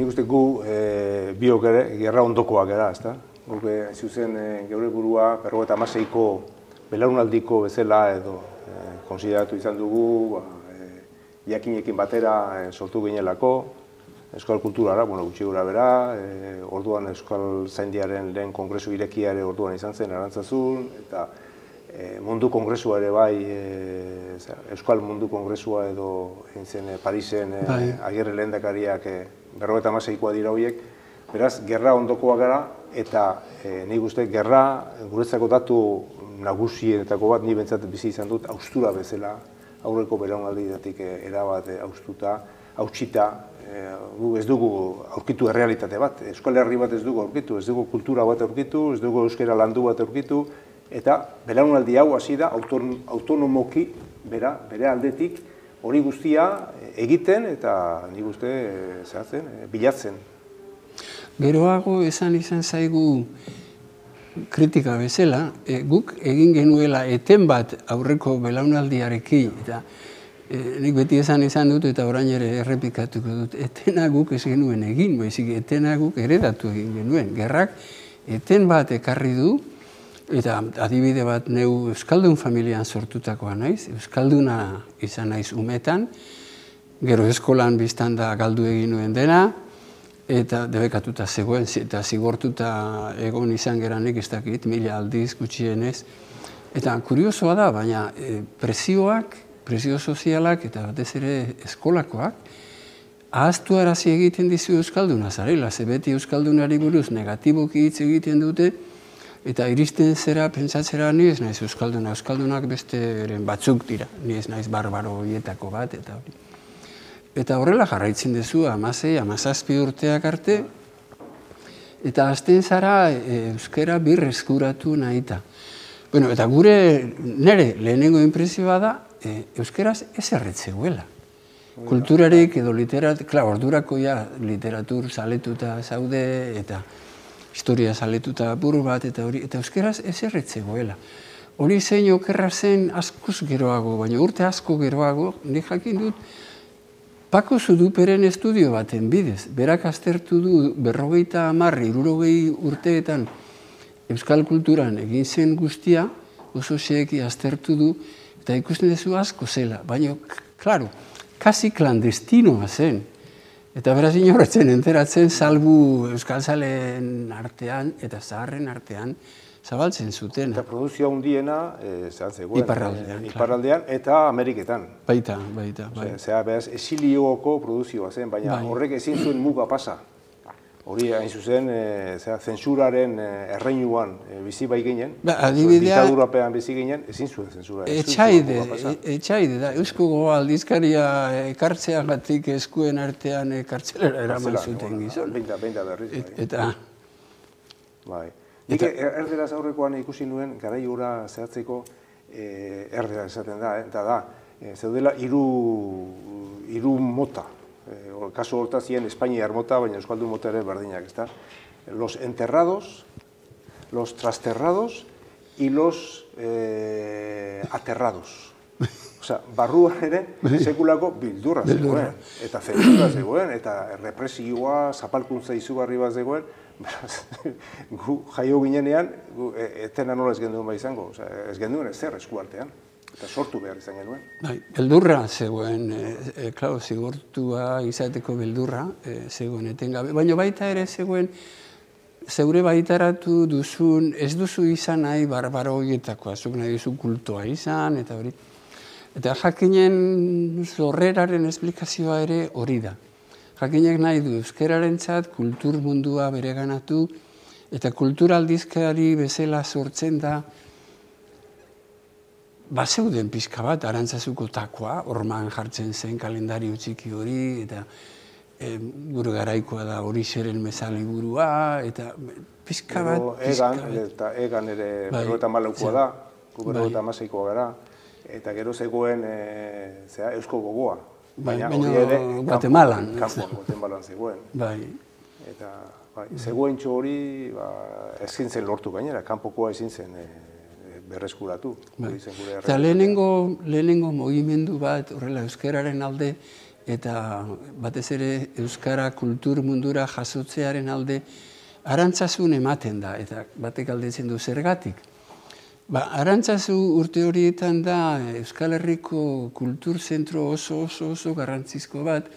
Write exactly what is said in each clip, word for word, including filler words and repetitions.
nik uste gu biok ere, gerra ondokoak gara, ezta? Guk zuzen geure burua berrogeita hamaseiko belaunaldiko bezala edo konsideratu izan dugu, jakinekin batera sortu ginelako, euskal kulturara, bueno, gutxi gura bera, orduan euskal zaindiaren lehen kongresu irekia ere orduan izan zen Arantzazun, eta mundu kongresua ere bai, euskal mundu kongresua edo egin zen Parisen Agirre lehendakariak berrogeita hamaseikoa dira horiek, beraz, gerra ondokoa gara, eta nik uste gerra guretzako datu nagusienetako bat, ni bentsat bizi izan dut, haustura bezala, aurreko belaunaldietatik erabat haustuta, hautsita, gu ez dugu aurkitu errealitate bat, euskal herri bat ez dugu aurkitu, ez dugu kultura bat aurkitu, ez dugu euskera landu bat aurkitu, eta belaunaldi hau hasi da autonomoki, bere aldetik, hori guztia egiten eta nik uste zehatzen, bilatzen. Geroago esan izan zaigu kritika bezala, guk egin genuela eten bat aurreko belaunaldiarekin, eta nik beti esan izan dut eta orain ere errepikatuko dut, etena guk ez genuen egin, baizik etena guk eredatu egin genuen. Gerrak eten bat ekarri du, eta adibide bat neu Euskaldun familian sortutakoa naiz, Euskalduna izan naiz umetan, gero eskolan biztan da galdu egin nuen dena, eta debekatuta zegoen, eta zigortuta egon izan geranik ez dakit, mila aldiz gutxienez. Eta kuriosoa da, baina presioak, presio sozialak eta batez ere eskolakoak, ahaztu arazi egiten dizu Euskalduna zarela, ze beti Euskaldunari buruz negatiboki hitz egiten dute, eta iristen zera, pentsatzera, ni ez naiz Euskalduna, Euskaldunak besteren batzuk dira, ni ez naiz barbaro horietako bat, eta hori. Eta horrela jarraitzen duzu, hamasei, hamazazpi urteak arte, eta hasten zara euskera birreskuratu nahita. Bueno, eta gure, nire lehenengo inpresioa da, euskeraz ez erretzeguela. Kulturarik edo literatur, klar, ordurako ja literatur saletuta zaude, eta historia saletuta buru bat, eta hori, eta euskeraz ez erretzeguela. Hori zein okerra zen askoz geroago, baina urte asko geroago, nik jakin dut, Pako Zuduperen estudio baten bidez, berak aztertu du berrogeita hamar, hirurogei urteetan euskal kulturan egin zen guztia, oso xeeki aztertu du, eta ikusten duzu asko zela, baina, klaro, kasi klandestinoa zen. Eta beraz inorretzen enteratzen salbu euskalzaleen artean eta zaharren artean zabaltzen zuten. Eta produzioa hundiena zegoen iparraldean eta Ameriketan. Baita, baita. Zera, beraz, esilioko produzioa zen, baina horrek ezin zuen muga pasa. Hori, hain zuzen, zentsuraren erreinuan bizi bai ginen, ditadurapean bizi ginen, ezin zuen zentsura. Etxaide, etxaide da, eusko goa aldizkaria ekartzeagatik eskuen artean kartzelera eraman zuten gizon. Beinda, beinda berriz. Eta... Bai. Nik erderaz aurrekoan ikusi nuen, garai hura zehatzeko erdera esaten da, eta da, zeudela hiru mota. Kaso hortazien Espainiar mota, baina euskaldun mota ere berdinak, ezta? Los enterrados, los trasterrados y los aterrados. Osea, barruan ere sekulako bildurra zegoen, eta zentzura zegoen, eta represioa, zapalkuntza izugarri bat zegoen, beraz, gu jaio ginenean, etena nola ez genduen bai izango, ez genduen ezer eskuartean, eta sortu behar izan genuen. Beldurra zegoen, klau, zigortua izateko beldurra zegoen etengabe, baina baita ere zegoen, zeure baitaratu duzun, ez duzu izan nahi barbaro horietakoa, zuk nahi duzu kultoa izan, eta hori. Eta jakinen zorreraren esplikazioa ere hori da. Jakinek nahi du euskeraren txat, kultur mundua bereganatu, eta kulturaldizkari bezala sortzen da, bazeuden pixka bat, Arantzazuko takoa, orman jartzen zen kalendario txiki hori, eta gure garaikoa da hori xeren mezali burua, eta pixka bat, pixka bat. Eta egan ere berrogeita hamalaukoa da, gu berrogeita hamaseikoa gara, eta gero zegoen eusko gogoa. Baina hori ere Guatemalan. Kampoan, Guatemalan zegoen. Eta zegoen txo hori ezin zen lortu gainera, kanpokoa ezin zen berreskuratu. Eta lehenengo mugimendu bat, horrela euskararen alde eta batez ere euskara kultur mundura jasotzearen alde arantzasun ematen da, eta batek galdetzen du zergatik. Ba, arantzazu urte horietan da Euskal Herriko kultur zentro oso oso oso garrantzizko bat,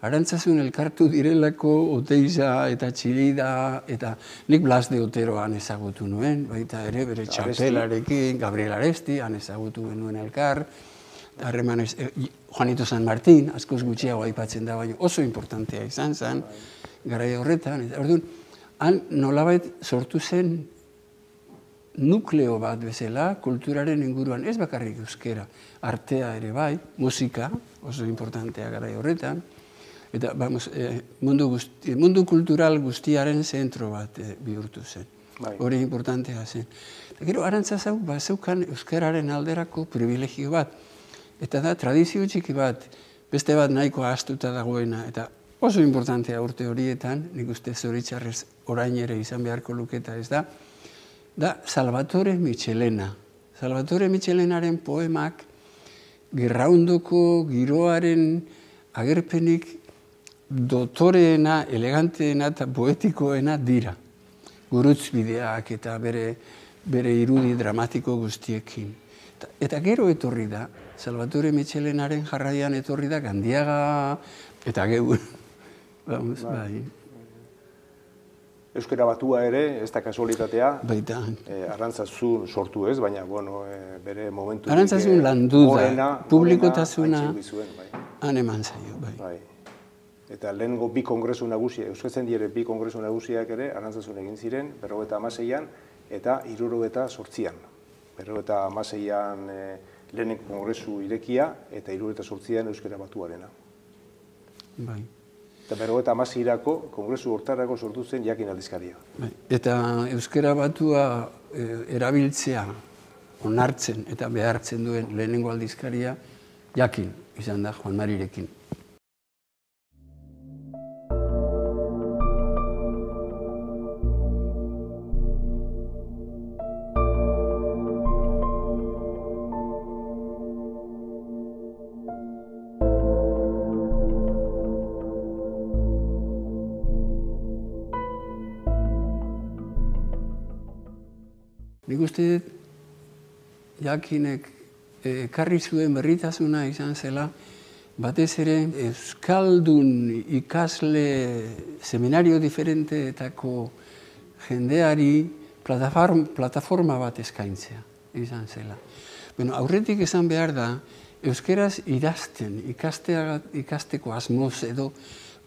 arantzazun elkartu direlako Oteiza eta Txilida, eta nik Blas de Oteroan ezagutu nuen, baita ere bere txapelarekin, Gabriel Aresti, han ezagutu genuen elkar, harremanez, eh, Juanito San Martín, askoz gutxiago aipatzen da, baina oso importantea izan zen, garaia horretan, eta orduan, han nolabait sortu zen nukleo bat bezala, kulturaren inguruan, ez bakarrik euskera, artea ere bai, musika, oso importantea garaia horretan, eta vamos, eh, mundu, guzti, mundu kultural guztiaren zentro bat eh, bihurtu zen. Hori importantea zen. Eta gero, arantzazau, ba, zeukan euskararen alderako privilegio bat. Eta da, tradizio txiki bat, beste bat nahiko ahaztuta dagoena, eta oso importantea urte horietan, nik uste zoritxarrez orain ere izan beharko luketa ez da, da Salvatore Michelena. Salvatore Michelenaren poemak gerraundoko giroaren agerpenik dotoreena, eleganteena eta poetikoena dira. Gurutzbideak eta bere, bere irudi dramatiko guztiekin. Eta, eta gero etorri da, Salvatore Michelenaren jarraian etorri da Gandiaga eta geu. Vamos, bai. Euskara batua ere, ez da kasualitatea, baita. Eh, Arantzazun sortu ez, baina bueno, eh, bere momentu... Arantzazun landu da, publikotasuna bai. Han eman zaio, bai. bai. Eta lehengo bi kongresu nagusia, Euskatzen dire bi kongresu nagusiak ere, Arantzazun egin ziren, berrogeta hamaseian eta hirurogeta zortzian. Berrogeta hamaseian eh, lehenen kongresu irekia eta hirurogeta zortzian Euskara batuarena. Bai. Eta berrogeta hamaseirako kongresu hortarako sortu zen Jakin aldizkaria. Eta euskara batua erabiltzea, onartzen eta behartzen duen lehenengo aldizkaria Jakin izan da Juan Marirekin. Nik uste Jakinek ekarri zuen berritasuna izan zela, batez ere euskaldun ikasle seminario diferenteetako jendeari plataforma bat eskaintzea izan zela. Bueno, aurretik esan behar da, euskeraz idazten, ikasteko asmoz edo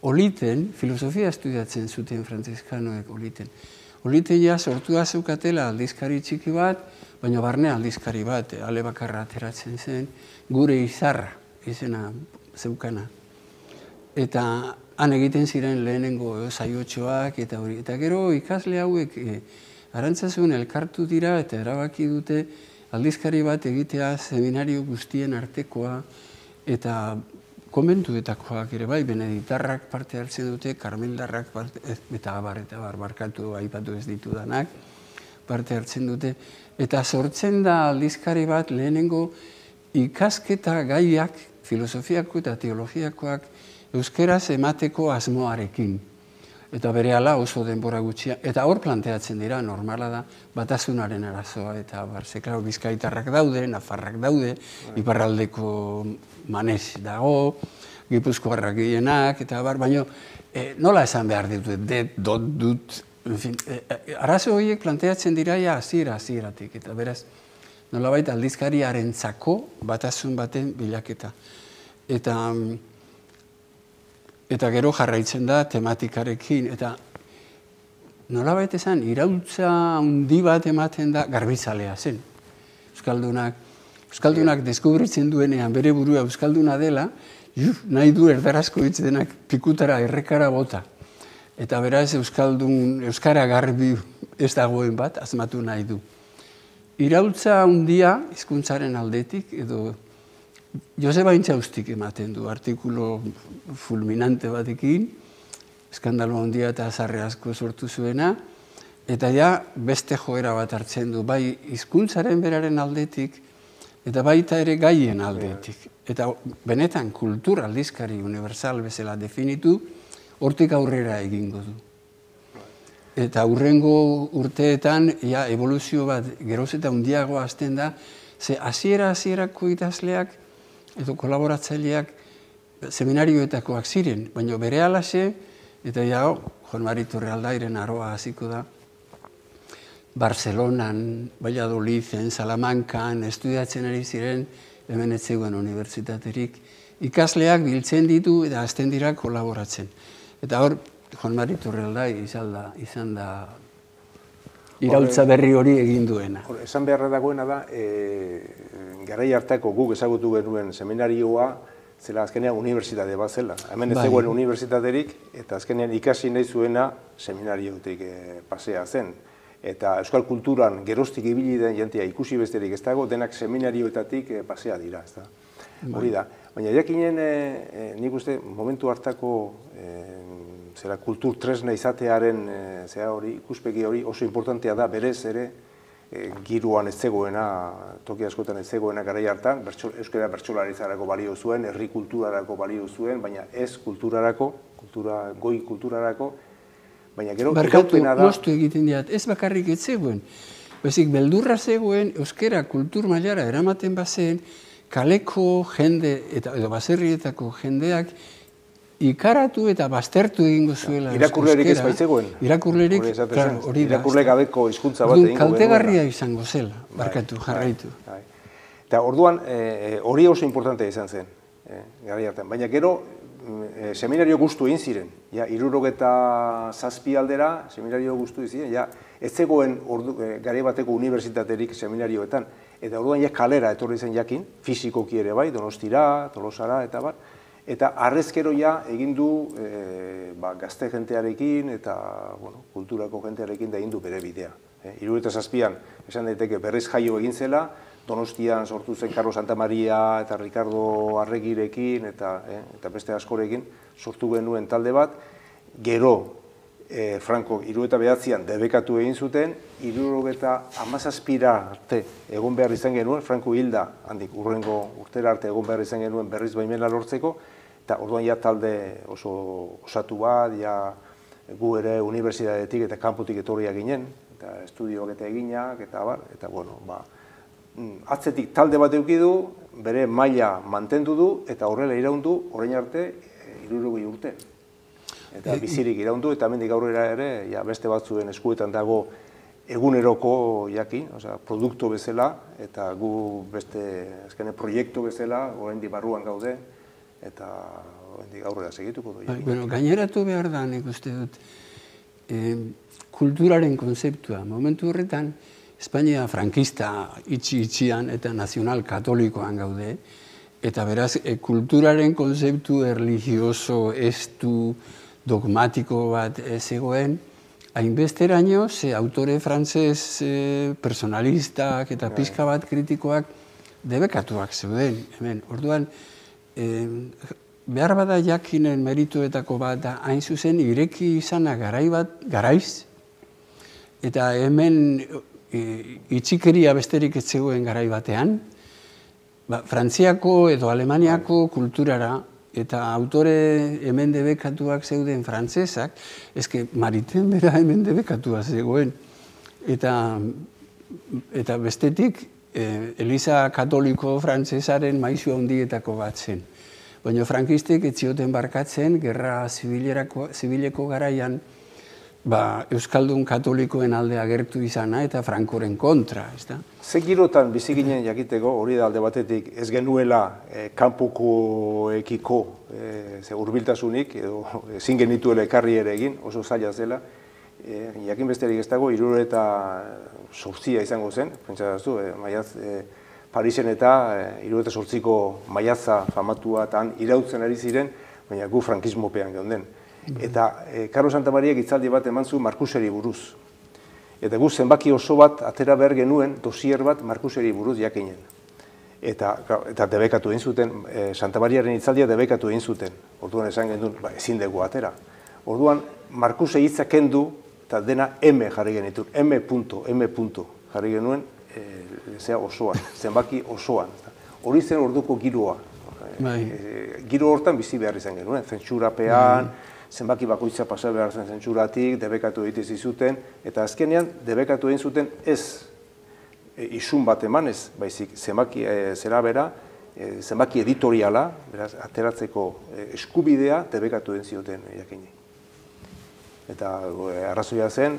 oliten, filosofia estudiatzen zuten frantziskanoek oliten. Oliten ja sortua zeukatela aldizkari txiki bat, baina barne aldizkari bat, ale bakarra ateratzen zen, gure izarra izena zeukana. Eta han egiten ziren lehenengo saiotxoak eta hori. Eta gero ikasle hauek Arantzazun elkartu dira eta erabaki dute aldizkari bat egitea seminario guztien artekoa eta konbentuetakoak ere bai, beneditarrak parte hartzen dute, karmeldarrak parte, eta abar, eta abar, barkatu, aipatu ez ditudanak, parte hartzen dute. Eta sortzen da aldizkari bat lehenengo ikasketa gaiak, filosofiako eta teologiakoak, euskeraz emateko asmoarekin. Eta berehala oso denbora gutxia, eta hor planteatzen dira, normala da, batasunaren arazoa, eta barze, klaro, bizkaitarrak daude, nafarrak daude, iparraldeko manez dago, gipuzkoarrak gehienak, eta bar, baina nola esan behar ditut, det, dot, dut, enfin, arazo horiek planteatzen dira ja hasiera hasieratik, eta beraz, nolabait aldizkariarentzako batasun baten bilaketa. Eta Eta gero jarraitzen da tematikarekin, eta nolabait esan, iraultza handi bat ematen da garbizalea zen. Euskaldunak, Euskaldunak deskubritzen duenean bere burua Euskalduna dela, nahi du erdarazko hitz denak pikutara, errekara bota. Eta beraz Euskaldun, Euskara garbi ez dagoen bat, asmatu nahi du. Iraultza handia hizkuntzaren aldetik, edo Joseba Intxaustik ematen du, artikulo fulminante batekin, eskandalo handia eta azarre asko sortu zuena, eta ja beste joera bat hartzen du, bai hizkuntzaren beraren aldetik, eta baita ere gaien aldetik. Eta benetan kultura aldizkari universal bezala definitu, hortik aurrera egingo du. Eta hurrengo urteetan, ja, evoluzio bat geroz eta handiagoa hasten da, ze hasiera-hasierako idazleak edo kolaboratzaileak seminarioetakoak ziren, baina berehalaxe, eta ja, Jon Mari Torrealdairen aroa hasiko da, Barcelonan, Valladoliden, Salamancan, estudiatzen ari ziren, hemen ez zegoen unibertsitaterik, ikasleak biltzen ditu eta hasten dira kolaboratzen. Eta hor, Jon Mari Torrealdai izan da, izan da iraultza berri hori egin duena. Esan beharra dagoena da, garai hartako guk ezagutu genuen seminarioa, zela azkenean unibertsitate bat zela. Hemen ez zegoen unibertsitaterik, eta azkenean ikasi nahi zuena seminariotik pasea zen. Eta euskal kulturan geroztik ibili den jentea ikusi besterik ez dago, denak seminarioetatik pasea dira. Hori da. Baina jakinen, nik uste, momentu hartako zera kultur tresna izatearen ikuspegi hori oso importantea da, berez ere, giroan ez zegoena, toki askotan ez zegoena garai hartan, euskara bertsolaritzarako balio zuen, herri kulturarako balio zuen, baina ez kulturarako, goi kulturarako, baina gero iraupena da... Barkatu, moztu egiten diat, ez bakarrik ez zegoen. Bezik, beldurra zegoen, euskara kultur mailara eramaten bazen, kaleko jende, edo baserrietako jendeak, ikaratu eta baztertu egingo zuela euskera. Irakurlerik ez baitzegoen. Irakurlerik, hori da. Irakurle gabeko hizkuntza bat egingo genuela. Kaltegarria izango zela, barkatu, jarraitu. Eta orduan, hori oso importantea izan zen, garai hartan. Baina gero, seminario guztu egin ziren. Hirurogeta zazpi aldera, seminario guztu egin ziren. Ez zegoen garai bateko unibertsitaterik seminarioetan. Eta orduan kalera etorri zen jakin, fizikoki ere bai, Donostira, Tolosara, eta bar. Eta arrezkero ja egin du gazte jentearekin eta kulturako jentearekin da egin du bere bidea. Hirurogeta zazpian esan daiteke berriz jaio egin zela, Donostian sortu zen Carlos Santamaria eta Ricardo Arregirekin eta beste askorekin sortu genuen talde bat. Gero Franco hirurogeta bederatzian debekatu egin zuten, hirurogeta hamazazpira arte egon behar izan genuen, Franco hilda handik urrengo urtera arte egon behar izan genuen berriz baimena lortzeko, eta orduan ja talde oso osatu bat, ja gu ere unibertsitatetik eta kanpotik etorriak ginen, eta estudioak eta eginak, eta bar, eta bueno, ba, atzetik talde bat eduki du, bere maila mantendu du, eta horrela iraundu, orain arte, hirurogei urte. Eta bizirik iraundu, eta hemendik aurrera ere, beste batzuen eskuetan dago eguneroko jakin, produktu bezala, eta gu beste azkene proiektu bezala, oraindik barruan gaude, eta oraindik aurrera segituko du. Gaineratu behar da, nik uste dut, kulturaren konzeptua. Momentu horretan, Espainia frankista itxi-itxian eta nazional katolikoan gaude, eta beraz, kulturaren konzeptu erligioso, estu, dogmatiko bat zegoen, hainbesteraino, ze autore frantzez personalistak eta pixka bat kritikoak debekatuak zeuden. Orduan, behar bada jakinen merituetako bat da hain zuzen ireki izana garaiz, eta hemen itxikeria besterik ez zegoen garai batean, Frantziako edo Alemaniako kulturara eta autore hemen debekatuak zeuden frantzesak, ezke Maritain bera hemen debekatua zegoen. Eta bestetik, Eliza Katoliko frantzesaren maisu handietako bat zen. Baina frankistek ez zioten barkatzen, gerra zibileko garaian, Euskaldun katolikoen alde agertu izana eta Frankoren kontra. Ze girotan bizi ginen jakiteko, hori da alde batetik, ez genuela kanpokoekiko hurbiltasunik, edo ezin genituela ekarri ere egin, oso zaila zela. Jakin besterik ez dago, hirurogeta zortzia izango zen, pentsatzu, Parisen eta hirurogeta zortziko maiatza famatua eta han irautzen ari ziren, baina gu frankismopean geunden. Eta Carlos Santamariak hitzaldi bat eman zuen Markuseri buruz. Eta gu zenbaki oso bat atera behar genuen dosier bat Markuseri buruz jakinen. Eta debekatu egin zuten, Santamariaren hitzaldia debekatu egin zuten. Orduan esan genuen, ezin dugu atera. Orduan Markuse hitza kendu eta dena M jarri genituen, M punto, M punto jarri genuen, zea osoan, zenbaki osoan. Hori zen orduko giroa. Giro hortan bizi behar izan genuen, zentsurapean, zenbaki bakoitza pasa behar zen zentsuratik, debekatu egite zizuten, eta azkenean debekatu egin zuten ez isun bat emanez, baizik zenbaki zera bera, zenbaki editoriala, beraz, ateratzeko eskubidea debekatu egin zioten jakini. Eta arrazoia zen,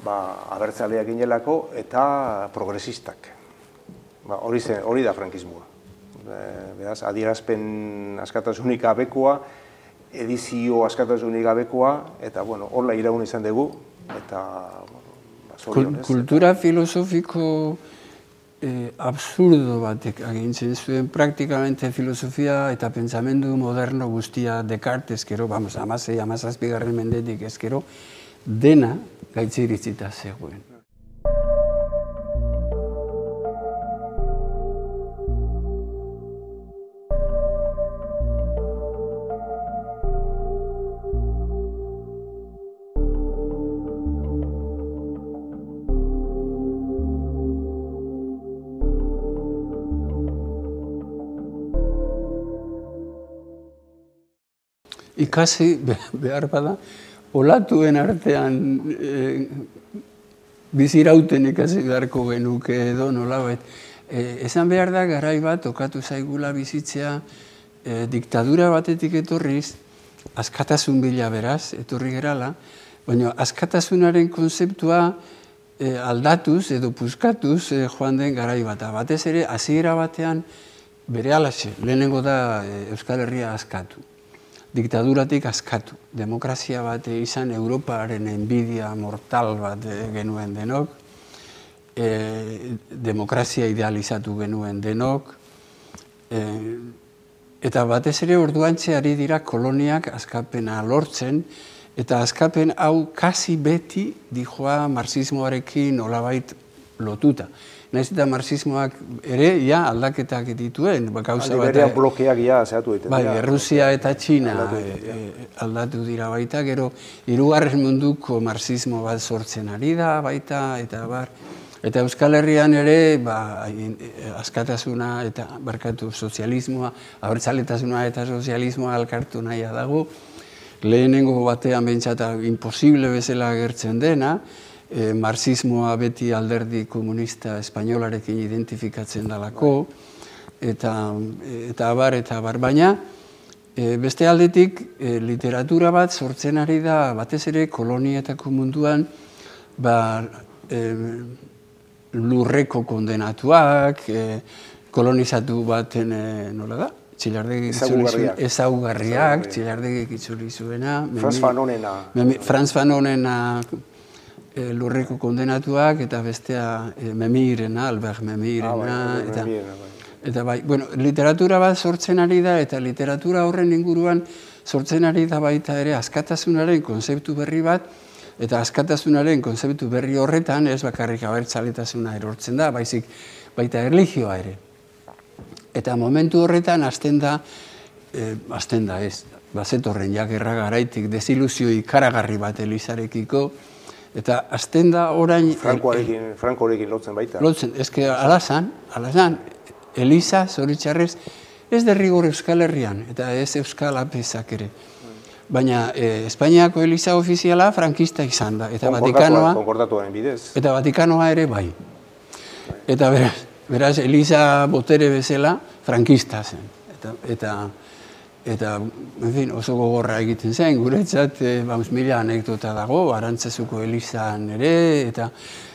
abertzaleak ginelako eta progresistak. Hori da frankismoa. Beraz, adierazpen askatasunik gabekoa, edizio askatasunik gabekoa, eta, bueno, horla iraun izan dugu, eta zorionez. Kultura filosofiko absurdo batek agintzen zuen, praktikamente filosofia eta pentsamendu moderno guztia Descartes, eskero, vamos, amasei, amazazpigarren mendetik eskero, dena gaitziritzita zegoen. Ikasi behar bada, olatuen artean bizirauten ikasi beharko genuke edo nolabait. Esan behar da, garai bat, okatu zaigula bizitzea, diktadura batetik etorriz, askatasun bila beraz, etorri gerala, baina askatasunaren konzeptua aldatuz edo puskatuz joan den garai bat. Batez ere, hasiera batean bere alaxe, lehenengo da Euskal Herria askatu. Diktaduratik askatu. Demokrazia bat izan Europaren enbidia mortal bat genuen denok, demokrazia idealizatu genuen denok, eta batez ere orduantxe ari dira koloniak askapena lortzen, eta askapen hau kasi beti dijoa marxismoarekin nolabait lotuta. Naiz eta marxismoak ere, ja, aldaketak dituen. Aldi berean blokeak ja zehatu egiten. Bai, Errusia eta Txina aldatu dira baita, gero, hirugarren munduko marxismo bat sortzen ari da baita, eta bar. Eta Euskal Herrian ere, askatasuna eta barkatu sozialismoa, abertzaletasuna eta sozialismoa alkartu nahia dago, lehenengo batean bentsata imposible bezala agertzen dena, marxismoa beti alderdi komunista espainolarekin identifikatzen dalako, eta abar, eta abar. Baina, beste aldetik, literatura bat sortzen ari da, batez ere, kolonietako munduan, lurreko kondenatuak, kolonizatu baten, nola da? Ezaugarriak, Txilardegik itzuli zuena. Franz Fanonena. Franz Fanonena lurreko kondenatuak, eta bestea Memirena, Albert Memirena. Eta bai, bueno, literatura bat sortzen ari da, eta literatura horren inguruan sortzen ari da baita ere askatasunaren konzeptu berri bat, eta askatasunaren konzeptu berri horretan ez bakarrik abertzaletasuna erortzen da, baizik baita erlijioa ere. Eta momentu horretan hasten da, hasten da ez, bazetorren jagerra garaitik desilusio ikaragarri bat Elizarekiko, eta hasten da orain... Frankorekin lotzen baita. Lotzen, ezke alazan, alazan, Eliza, zoritxarrez, ez derrigor Euskal Herrian, eta ez Euskal Apezak ere. Baina Espainiako Eliza ofiziala frankista izan da, eta Vatikanoa... Konkordatuaren bidez. Eta Vatikanoa ere bai. Eta beraz, Eliza botere bezala frankista zen. Eta... Eta, en fin, oso gogorra egiten zen, guretzat, mila anekdota dago, Arantzazuko Elizan ere, eta...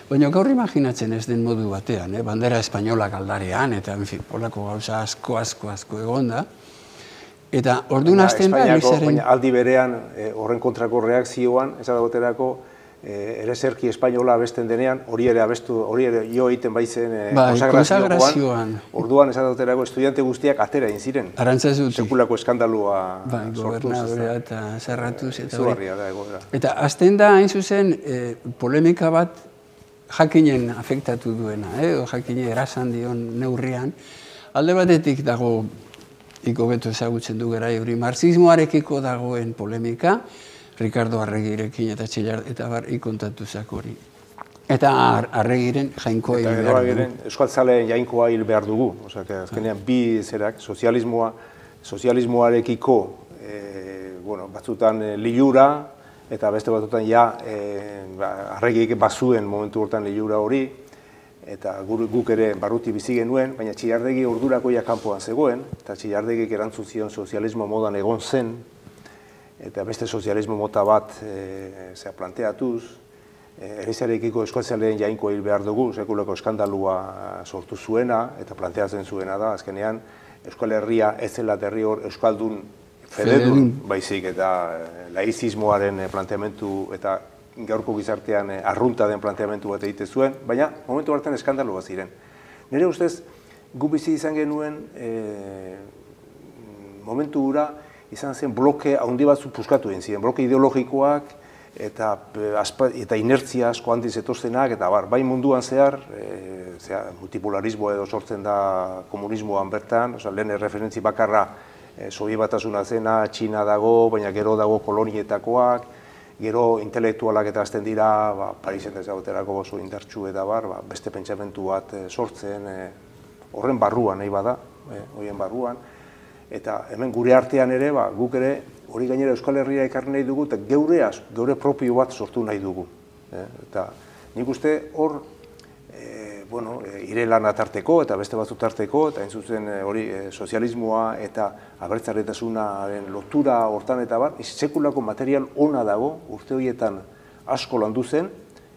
Baina gaur imaginatzen ez den modu batean, bandera espainolak aldarean, eta, en fin, polako gauza asko, asko, asko egon da. Eta, orduan hasten da, Elizaren... Baina aldi berean, horren kontrako reakzioan, ez adagoterako, ereserki espainola abesten denean, hori ere abestu, hori ere jo egiten baitzen konsagrazioan. Orduan, ez adagoterako, estudiante guztiak atera egin ziren. Arantzazutik. Sekulako eskandalua sortuz. Bai, gobernadorea eta zerratuz. Izugarria da, egoera. Eta hasten da, hain zuzen, polemika bat jakinen afektatu duena, edo jakine erasan dion neurrian. Alde batetik dago, ikobeto ezagutzen du gara hori, marxismoarekiko dagoen polemika, Ricardo Arregirekin eta Txillar eta bar ikontatu zak hori. Eta Arregiren jainkoa hil behar dugu. Eta gero euskaltzaleen jainkoa hil behar dugu. Osea, azkenean bi zerak, sozialismoa, sozialismoarekiko bueno, batzutan lilura, eta beste batzutan ja Arregik bazuen momentu hortan lilura hori, eta guk ere barruti bizi genuen, baina Txillardegi ordurako ja kanpoan zegoen, eta Txillardegik erantzun zion sozialismo modan egon zen, eta beste sozialismo mota bat planteatuz, Elizarekiko euskaltzaleen jainkoa hil behar dugu, sekulako eskandalua sortu zuena, eta planteatzen zuena da, azkenean, Euskal Herria ez zela derri hor euskaldun fededun baizik, eta laizismoaren planteamentu eta gaurko gizartean arrunta den planteamentu bat egite zuen, baina momentu hartan eskandalu bat ziren. Nire ustez, gu bizi izan genuen momentu hura izan zen bloke handi batzu puskatu egin ziren, bloke ideologikoak eta inertzia asko handiz etoztenak, eta bai munduan zehar, multipolarismo edo sortzen da komunismoan bertan, lehen referentzi bakarra Sobi Batasuna zena, Txina dago, baina gero dago kolonietakoak, gero intelektualak eta azten dira, Parisen ezaguterako oso indartsu eta bar, beste pentsamentu bat sortzen, horren barruan nahi bada, horien barruan, eta hemen gure artean ere, guk ere, hori gainera Euskal Herria ekarri nahi dugu, eta geureaz, geure propio bat sortu nahi dugu. Eta nik uste hor, ire lan atarteko eta beste batzut tarteko, eta hain zuzen hori sozialismoa eta abertzaretasunaren lotura hortan eta bar, sekulako material ona dago, urte horietan asko landu zen,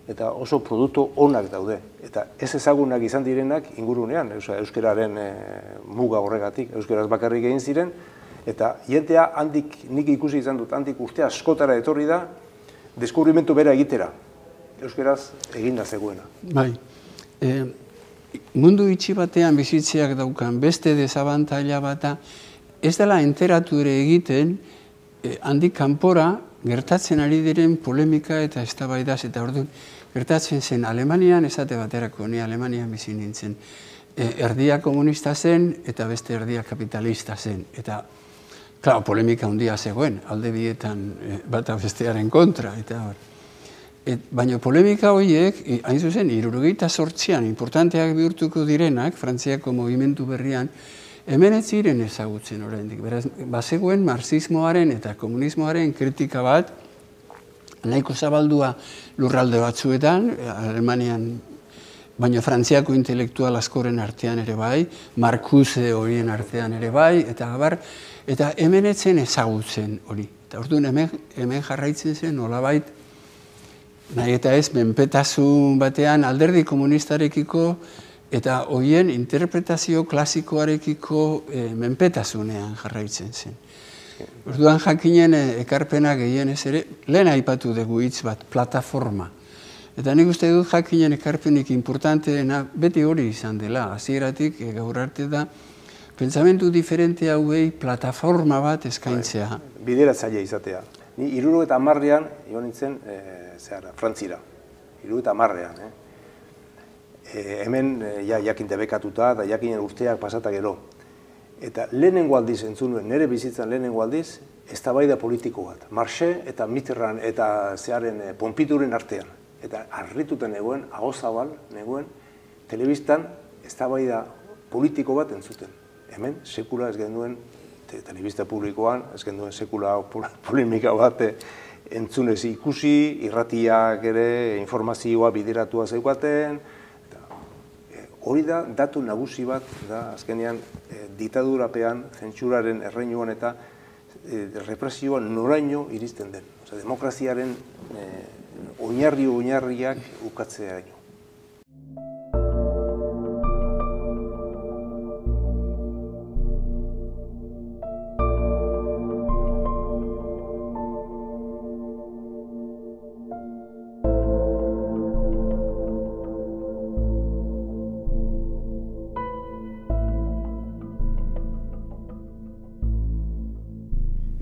eta oso produktu onak daude. Eta ez ezagunak izan direnak ingurunean, euskararen muga horregatik, euskaraz bakarrik egin ziren, eta jentea handik, nik ikusi izan dut, handik urte askotara etorri da, deskubrimentu bera egitera, euskaraz eginda zegoena. Bai. Mundu itxi batean bizitzeak daukan beste desabantaila bata, ez dela enteratu ere egiten handik kanpora gertatzen ari diren polemika eta eztabaidaz, eta orduan gertatzen zen Alemanian, esate baterako, ni Alemanian bizi nintzen, erdia komunista zen eta beste erdia kapitalista zen. Eta, klaro, polemika handia zegoen, alde bietan bata bestearen kontra, eta hor. Baina polemika horiek, hain zuzen, hirurogeita zortzian, importanteak bihurtuko direnak, Frantziako mugimendu berrian, hemen ez ziren ezagutzen oraindik. Beraz, bazegoen marxismoaren eta komunismoaren kritika bat, nahiko zabaldua lurralde batzuetan, Alemanian, baina Frantziako intelektual askoren artean ere bai, Marcuse horien artean ere bai, eta gabar, eta hemen ez zen ezagutzen hori. Eta orduan hemen jarraitzen zen nolabait, nahi eta ez, menpetasun batean alderdi komunistarekiko eta horien interpretazio klasikoarekiko menpetasunean jarraitzen zen. Orduan jakinen ekarpena gehienez ere, lehen aipatu dugu hitz bat, plataforma. Eta nik uste dut jakinen ekarpenik importanteena beti hori izan dela, hasieratik gaur arte da, pentsamentu diferente hauei plataforma bat eskaintzea. Bideratzaile izatea. Ni hirurogeita hamarrean joan nintzen Frantzira, hirurogeita hamarrean. Hemen jakin debekatuta eta jakinen urteak pasata gero. Eta lehenengo aldiz entzun nuen, nire bizitzan lehenengo aldiz, eztabaida politiko bat. Marxe eta Mitterrand eta zearen Pompidouren artean. Eta harrituta negoen, ahozabal negoen, telebistan eztabaida politiko bat entzuten. Hemen sekula ez genuen, telebista publikoan, ez genuen sekula polemika bat entzunez ikusi, irratiak ere informazioa bideratua zeukaten. Hori da, datu nagusi bat, azkenean ditadurapean, zentsuraren erreinuan eta represioan noraino iristen den. Demokraziaren oinarri-oinarriak ukatzea.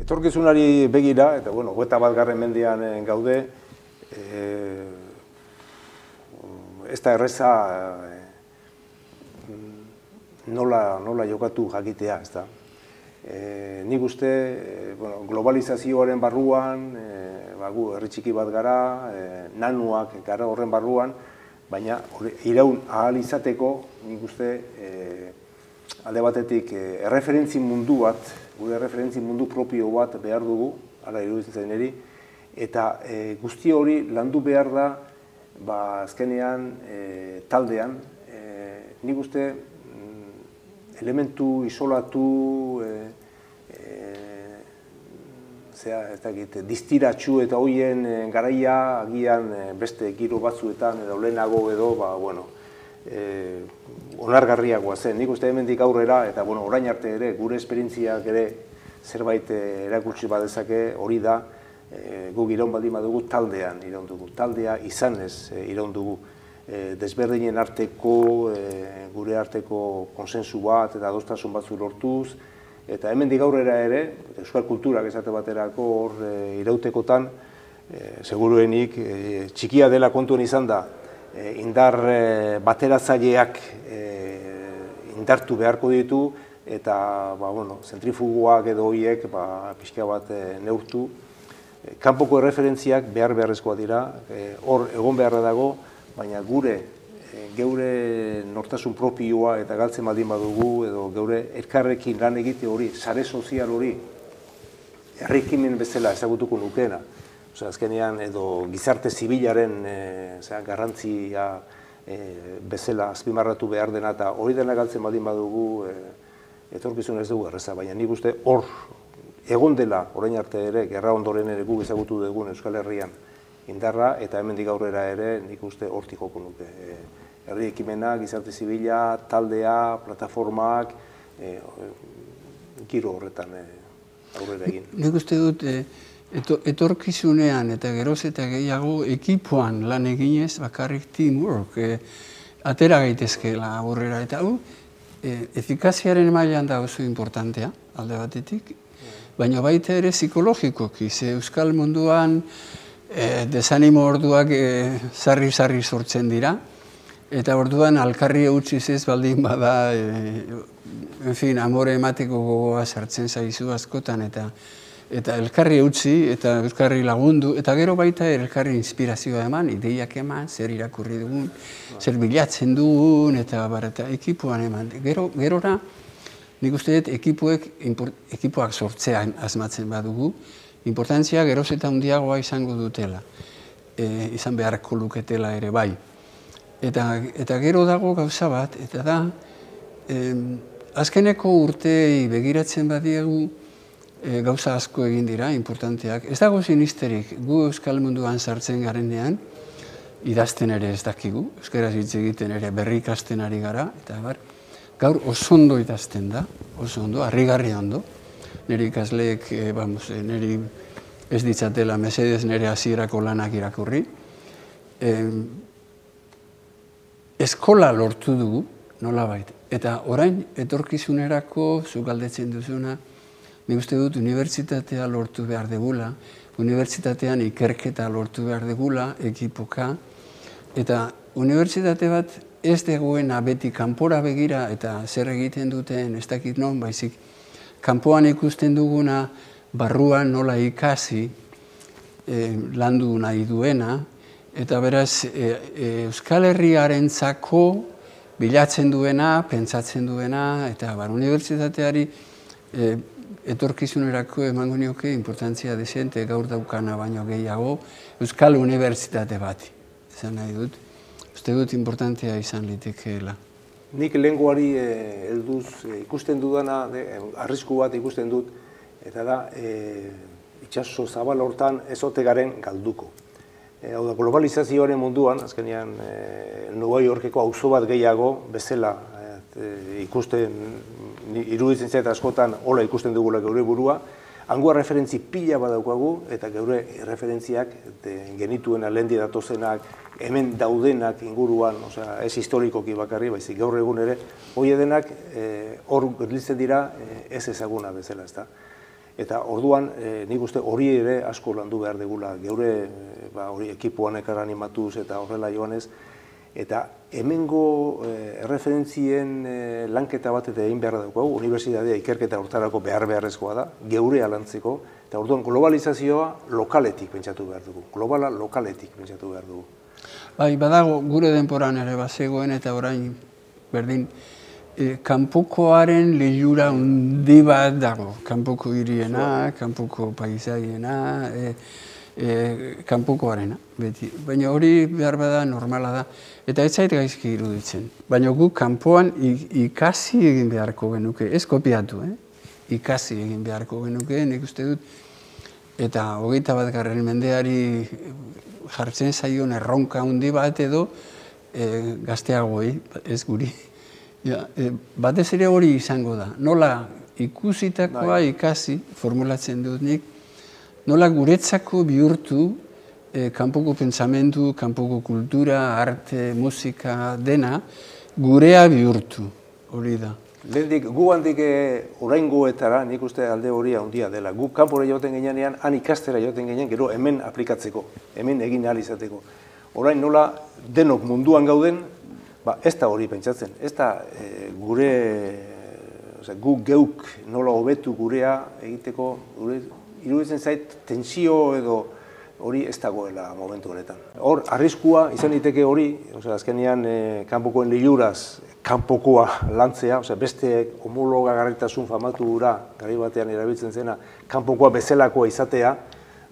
Etorkizunari begira, eta bueno, hogeita bat garren mendean gaude, ez da erreza nola jokatu jakitea, ez da. Nik uste, globalizazioaren barruan, herri txiki bat gara, nanuak gara horren barruan, baina iraun ahal izateko, nik uste, alde batetik, erreferentzi mundu bat, gure erreferentzi mundu propio bat behar dugu, hala iruditzen zain eri, eta guzti hori landu behar da, azkenean, taldean, nik uste, elementu isolatu, distiratxu eta hoien garaia agian beste giro batzuetan edo lehenago edo onargarriagoa zen. Nik uste hemendik aurrera eta orain arte ere gure esperientziak ere zerbait erakutsi badezake hori da guk iraun baldin badugu taldean iraun dugu. Taldea izanez iraun dugu. Desberdinen arteko, gure arteko konsensu bat eta adostasun batzu lortuz, eta hemendik aurrera ere, euskal kulturak esate baterako hor irautekotan, seguruenik txikia dela kontuen izan da, indar bateratzaileak indartu beharko ditu, eta zentrifugoak edo horiek pixka bat neurtu. Kanpoko erreferentziak behar beharrezkoa dira, hor egon beharra dago, baina gure, geure nortasun propioa eta galtzen baldin badugu, edo geure elkarrekin lan egite hori, sare sozial hori, herrikimen bezala ezagutuko nukeena. Azkenean, edo gizarte zibilaren garrantzia bezala azpimarratu behar dena, eta hori dena galtzen baldin badugu, etorkizun ez dugu erreza, baina nik uste hor, egon dela, orain arte ere, gerra ondoren ere guk ezagutu dugun Euskal Herrian, indarra, eta hemendik aurrera ere nik uste hortik joko nuke. Herri ekimena, gizarte zibila, taldea, plataformak, giro horretan aurrera egin. Nik uste dut, etorkizunean eta geroz eta gehiago ekipoan lan eginez, bakarrik teamwork, atera gaitezkeela aurrera. Eta hau, efikaziaren mailan da oso importantea, alde batetik, baina baita ere psikologikoki, ze euskal munduan desanimo orduak sarri-sarri sortzen dira, eta orduan alkarri eutxiz ez baldin bada, en fin, amore emateko gogoa sartzen zaizu askotan, eta elkarri eutxi, eta elkarri lagundu, eta gero baita elkarri inspirazioa eman, ideiak eman, zer irakurri dugun, zer bilatzen dugun, eta ekipuan eman. Gerora, nik uste dut ekipoak sortzean asmatzen badugu, importantzia geroz eta handiagoa izango dutela, izan beharko luketela ere bai. Eta gero dago gauza bat, eta da, azkeneko urtei begiratzen badiegu gauza asko egin dira, importanteak. Ez dago sinisterik, gu euskal munduan sartzen garenean, idazten ere ez dakigu, euskaraz hitz egiten ere berri ikasten ari gara, eta gaur oso ondo idazten da, oso ondo, harrigarri ondo. Niri ikasleek, niri ez ditzatela mesedez nire hasierako lanak irakurri. Eskola lortu dugu, nolabait. Eta orain, etorkizunerako, zuk galdetzen duzuna, nik uste dut unibertsitatea lortu behar degula, unibertsitatean ikerketa lortu behar degula, ekipoka, eta unibertsitate bat ez dagoena beti kanpora begira eta zer egiten duten ez dakit non, baizik, kanpoan ikusten duguna, barruan nola ikasi, landu nahi duena, eta beraz, Euskal Herriarentzako bilatzen duena, pentsatzen duena, eta unibertsitateari etorkizunerako emango nioke importantzia desente gaur daukana baino gehiago, Euskal Unibertsitate bati. Esan nahi dut, uste dut importantea izan litekeela. Nik lehengoari helduz ikusten dudana, arrisku bat ikusten dut, eta da, itxaso zabal hortan ezote garen galduko. Hau da, globalizazioaren munduan, azkenean, Nueva Yorkeko auzo bat gehiago, bezala ikusten, iruditzen zait askotan, hola ikusten dugula geure burua, hangoa referentzi pila badaukagu, eta geure referentziak genituen alendi datozenak, hemen daudenak inguruan, ez historikoki bakarri, baizik gaur egun ere, hori denak hor gerlitzen dira ez ezaguna bezala, ezta. Eta orduan, nik uste hori ere asko landu behar degula, geure ekipuan ekar animatuz eta horrela joanez, eta hemengo erreferentzien lanketa bat eta egin behar daukagu, unibertsitatea ikerketa hortarako behar beharrezkoa da, geure alantzeko, eta orduan globalizazioa lokaletik pentsatu behar dugu, globala lokaletik pentsatu behar dugu. Bai, badago gure denporan ere bazegoen eta orain berdin e, kanpokoaren lehura handi bat dago. Kanpoko hiriena, kanpoko paisaiena, e, e, kanpokoarena, beti. Baina hori behar bada normala da. Eta ez zait gaizki iruditzen. Baina guk kanpoan ikasi egin beharko genuke, ez kopiatu, eh? Ikasi egin beharko genuke, nik uste dut. Eta hogeita bat garren mendeari jartzen zaion erronka handi bat edo e, gazteagoi, ez guri. Ja, e, batez ere hori izango da. Nola ikusitakoa ikasi, formulatzen dut nik, nola guretzako bihurtu e, kanpoko pentsamendu, kanpoko kultura, arte, musika, dena, gurea bihurtu, hori da. Lehendik, gu handik oraingoetara, nik uste alde hori handia dela. Gu kanpora joten ginean, han ikastera joten ginean, gero hemen aplikatzeko, hemen egin ahal izateko. Orain nola denok munduan gauden, ba, ez da hori pentsatzen. Ez da e, gure, oza, gu geuk nola hobetu gurea egiteko, gure, iruditzen zait tensio edo hori ez dagoela momentu honetan. Hor, arriskua izan diteke hori, oza, azkenean e, kanpokoen liluraz, kanpokoa lantzea, oza, beste homologagarritasun famatu gura, gari batean erabiltzen zena, kanpokoa bezalakoa izatea,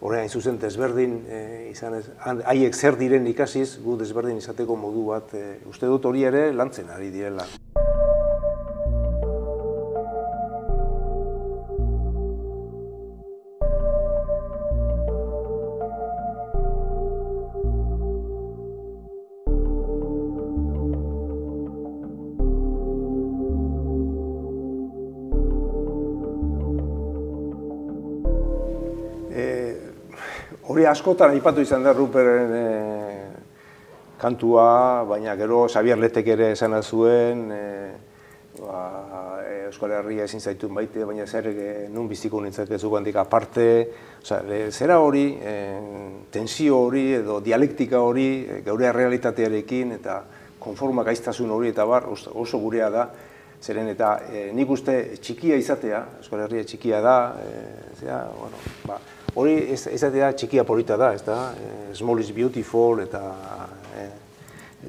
horrein zuzen desberdin e, izan ez, haiek zer diren ikasiz, gu desberdin izateko modu bat, e, uste dut hori ere lantzen ari direla. Hori askotan aipatu izan da Ruperen e, kantua, baina gero Xabier Letek ere esan zuen, e, ba, Euskal Herria ezin zaitun baite, baina zer e, nun biziko nintzakezu handik aparte. Osa, e, zera hori, e, tensio hori edo dialektika hori e, geure realitatearekin eta konforma gaiztasun hori eta bar oso gurea da. Zeren eta e, nik uste txikia izatea, Euskal Herria txikia da, e, zera, bueno, ba, hori izatea txikia polita da, ez da, e, small is beautiful eta e,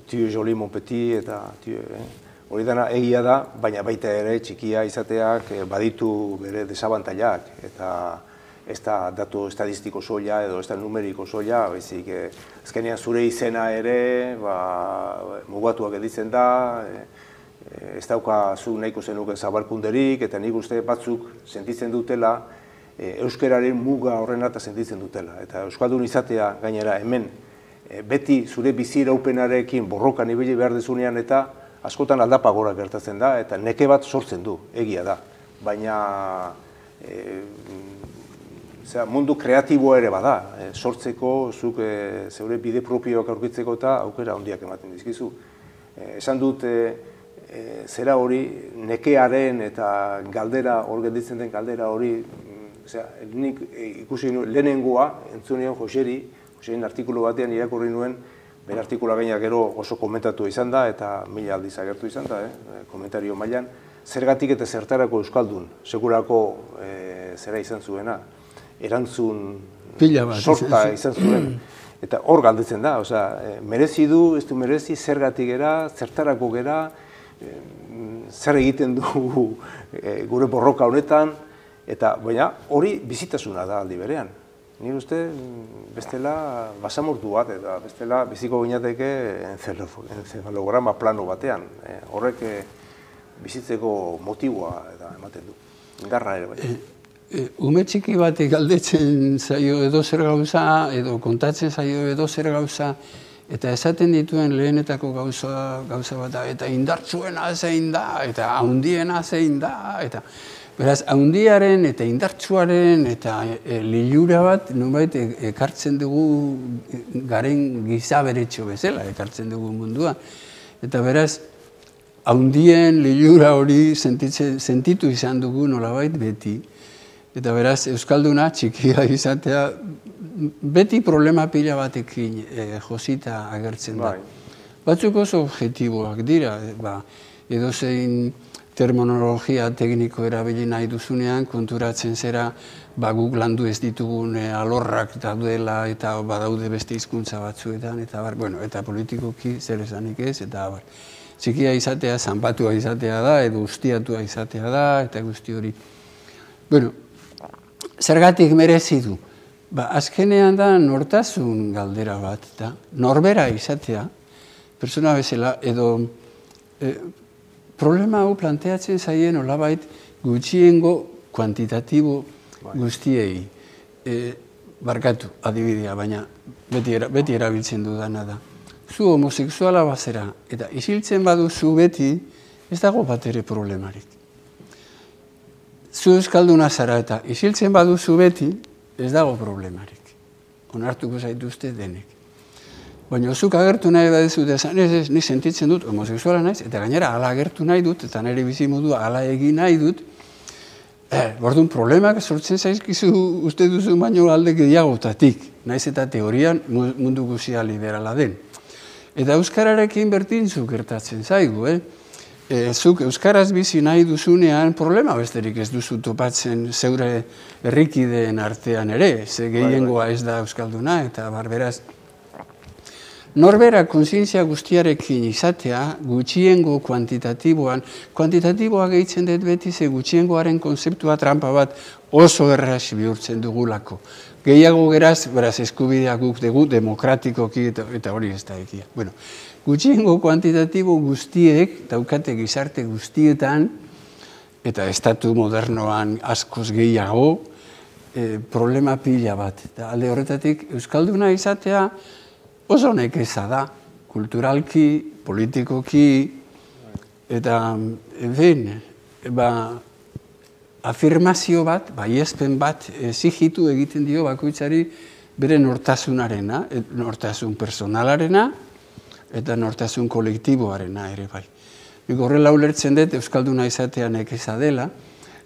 tu joli mon petit eta tu, e, hori dana egia da, baina baita ere txikia izateak e, baditu bere desabantailak eta ez da datu estadistiko soila edo ez da numeriko soila, baizik e, azkenean zure izena ere ba, mugatuak editzen da, e, ez dauka zu nahiko zenuke zabalkunderik eta nik uste batzuk sentitzen dutela euskararen muga horren eta sentitzen dutela. Eta euskaldun izatea gainera hemen beti zure bizi iraupenarekin borrokan ibili behar dezunean eta askotan aldapa gora gertatzen da eta neke bat sortzen du, egia da. Baina e, zera, mundu kreatiboa ere bada, e, sortzeko, zuk e, zeure bide propioak aurkitzeko eta aukera handiak ematen dizkizu. E, esan dut e, e, zera hori nekearen eta galdera, hor gelditzen den galdera hori, Osea, nik ikusi lehenengoa, entzun nion Joseri, Joserin artikulu batean irakurri nuen, bere artikula gaina gero oso komentatu izan da, eta mila aldiz agertu izan da, eh, komentario mailan, zergatik eta zertarako euskaldun, segurako e, zera izan zuena, erantzun sorta izan zuen. Eta hor galdetzen da, osea, merezi du, ez du merezi, zergatik gera, zertarako gera, e, zer egiten du e, gure borroka honetan, eta baina hori bizitasuna da aldi berean. Ni uste bestela basamortu bat eta bestela biziko ginateke encefalograma plano batean. E, horrek e, bizitzeko motiboa eta ematen du. Indarra ere bai. E, e, ume txiki batek galdetzen zaio edo zer gauza edo kontatzen zaio edo zer gauza eta esaten dituen lehenetako gauza, gauza bat da, eta indartsuena zein da, eta handiena zein da, eta beraz, handiaren eta indartsuaren eta e, lilura bat nonbait ekartzen dugu garen gizaberetxo bezala, ekartzen dugu mundua. Eta beraz, handien lilura hori sentitze, sentitu izan dugu nolabait beti. Eta beraz, euskalduna txikia izatea beti problema pila batekin e, josita agertzen da. Bai. Batzuk oso objektiboak dira, ba, edozein terminologia tekniko erabili nahi duzunean, konturatzen zera, ba, guk landu ez ditugun alorrak daudela eta badaude beste hizkuntza batzuetan, eta bar, bueno, eta politikoki zer esanik ez, eta bar. Txikia izatea, zanpatua izatea da, edo ustiatua izatea da, eta guzti hori. Bueno, zergatik merezi du? Ba, azkenean da nortasun galdera bat, da, norbera izatea, persona bezala, edo eh, problema hau planteatzen zaien olabait gutxiengo kuantitatibo guztiei. E, barkatu, adibidea, baina beti, era, beti erabiltzen dudana da. Zu homosexuala bazera eta isiltzen baduzu beti, ez dago bat ere problemarik. Zu euskalduna zara eta isiltzen baduzu beti, ez dago problemarik. Onartuko zaituzte denek. Baina zuk agertu nahi baduzu, ez ez, ni sentitzen dut homosexuala naiz, eta gainera hala agertu nahi dut, eta nire bizimodua hala egin nahi dut, eh, bordun problemak sortzen zaizkizu uste duzu baino alde gehiagotatik, naiz eta teorian mundu guzia liberala den. Eta euskararekin berdin zuk gertatzen zaigu, eh? E, zuk euskaraz bizi nahi duzunean problema besterik ez duzu topatzen zeure herrikideen artean ere, ze gehiengoa ez da euskalduna, eta barberaz, norbera kontzientzia guztiarekin izatea, gutxiengo kuantitatiboan, kuantitatiboa gehitzen dut beti ze gutxiengoaren konzeptua trampa bat oso erraz bihurtzen dugulako. Gehiago geraz, beraz eskubideak guk dugu, demokratikoki eta, eta hori ez da egia. Bueno, gutxiengo kuantitatibo guztiek, daukate gizarte guztietan, eta estatu modernoan askoz gehiago, eh, problema pila bat. Eta alde horretatik, euskalduna izatea, oso nekeza da, kulturalki, politikoki, eta, en fin, ba, afirmazio bat, baiespen bat, exigitu egiten dio bakoitzari bere nortasunarena, nortasun personalarena, eta nortasun kolektiboarena ere bai. Nik horrela ulertzen dut, euskalduna izatea nekeza dela,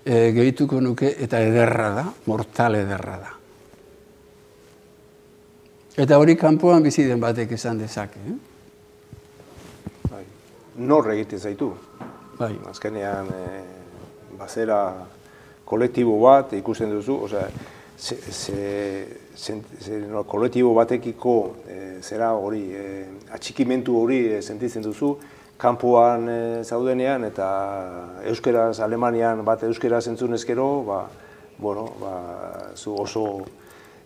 e, gehituko nuke, eta ederra da, mortal ederra da. Eta hori kanpoan bizi den batek esan dezake. Eh? Bai. Nor egiten zaitu. Bai. Azkenean, e, bazera kolektibo bat ikusten duzu, osea, ze, ze, ze, ze, no, kolektibo batekiko e, zera hori, e, atxikimentu hori e, sentitzen duzu, kanpoan e, zaudenean eta euskeraz, Alemanian bat euskeraz entzun ezkero, ba, bueno, ba, zu oso,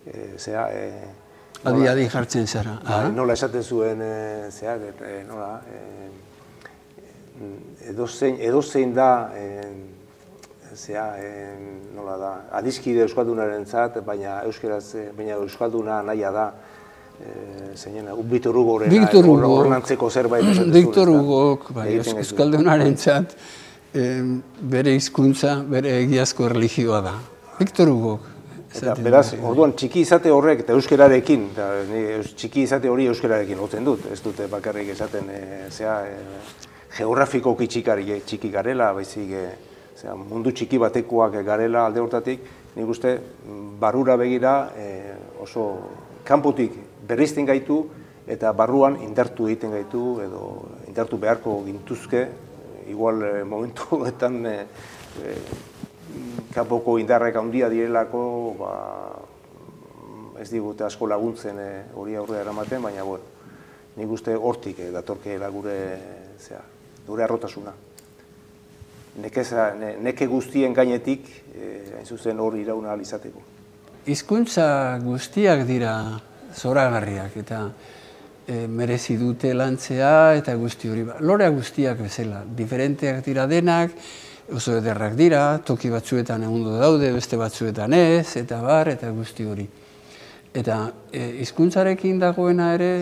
e, zera, e, Adi, adi jartzen zara. Ba, nola esaten zuen, e, zera, e, nola, e, edozein, edozein da, e, zera, e, nola da, adiskide euskaldunaren zat, baina euskeraz, baina euskalduna nahia da, e, zeinen, Victor Hugorena, Victor Hugo, ornantzeko zerbait esaten zuen. Victor Hugok, bai, euskaldunaren zat, e, bere hizkuntza, bere egiazko erlijioa da. Victor Hugok. Eta, beraz, orduan, txiki izate horrek eta euskerarekin, eta, ni, txiki izate hori euskerarekin lotzen dut, ez dute bakarrik esaten, e, zera, e, geografikoki txikari, txiki garela, baizik, e, zera, mundu txiki batekoak garela alde hortatik, nik uste, barrura begira e, oso kanpotik berrizten gaitu, eta barruan indartu egiten gaitu, edo indartu beharko gintuzke, igual e, momentuetan, e, e, kanpoko indarrek handia direlako, ba, ez digute asko laguntzen hori e, aurrera eramaten, baina bueno, nik uste hortik e, datorkeela gure, zera, gure arrotasuna. Nekeza, ne, neke guztien gainetik, e, hain zuzen hori irauna ahal izateko. Hizkuntza guztiak dira zoragarriak eta e, merezi dute lantzea eta guzti hori. Lorea guztiak bezala, diferenteak dira denak, oso ederrak dira, toki batzuetan egundo daude, beste batzuetan ez, eta bar, eta guzti hori. Eta hizkuntzarekin dagoena ere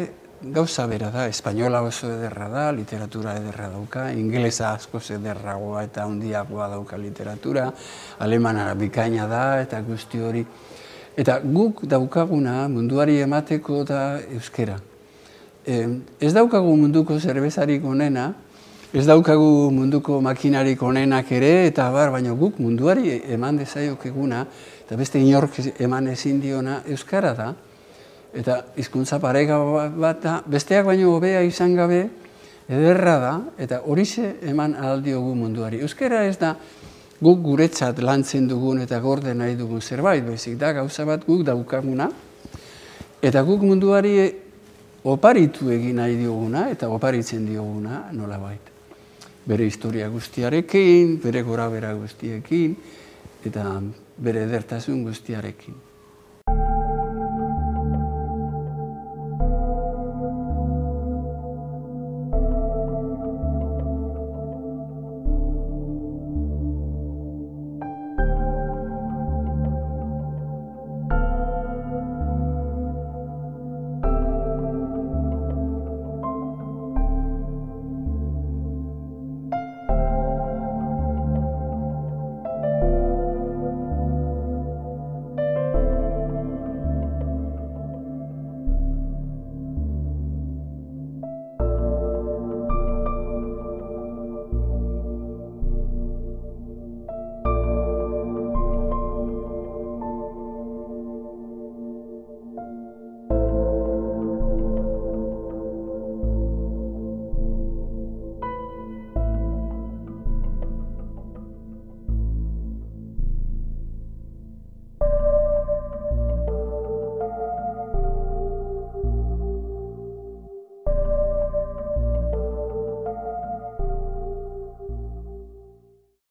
gauza bera da, espainola oso ederra da, literatura ederra dauka, ingelesa askoz ederragoa eta handiagoa dauka literatura, alemanara bikaina da, eta guzti hori. Eta guk daukaguna munduari emateko da euskera. Ez daukagu munduko zerbezarik onena, ez daukagu munduko makinarik onenak ere, eta bar, baina guk munduari eman dezaiok eguna, eta beste inork eman ezin diona euskara da, eta hizkuntza parega bat da, besteak baino hobea izan gabe, ederra da, eta horixe eman ahal diogu munduari. Euskara ez da guk guretzat lantzen dugun eta gorde nahi dugun zerbait, baizik da gauza bat guk daukaguna, eta guk munduari oparitu egin nahi dioguna, eta oparitzen dioguna nolabait. Bere historia guztiarekin, bere gorabehera guztiekin, eta bere edertasun guztiarekin.